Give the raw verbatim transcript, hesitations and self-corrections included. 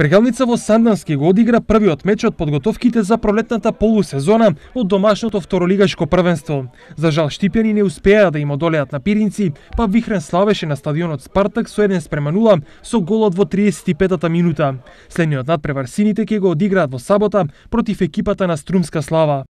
Брегелница во Сандански го одигра првиот меч од подготовките за пролетната полусезона од домашното второлигашко првенство. За жал штипјани не успеа да им одолеат на Пиринци, па Вихрен славеше на стадионот Спартак со еден спрема нула со голот во триесет и петата минута. Следниот надпревар сините ќе го одиграат во сабота против екипата на Струмска Слава.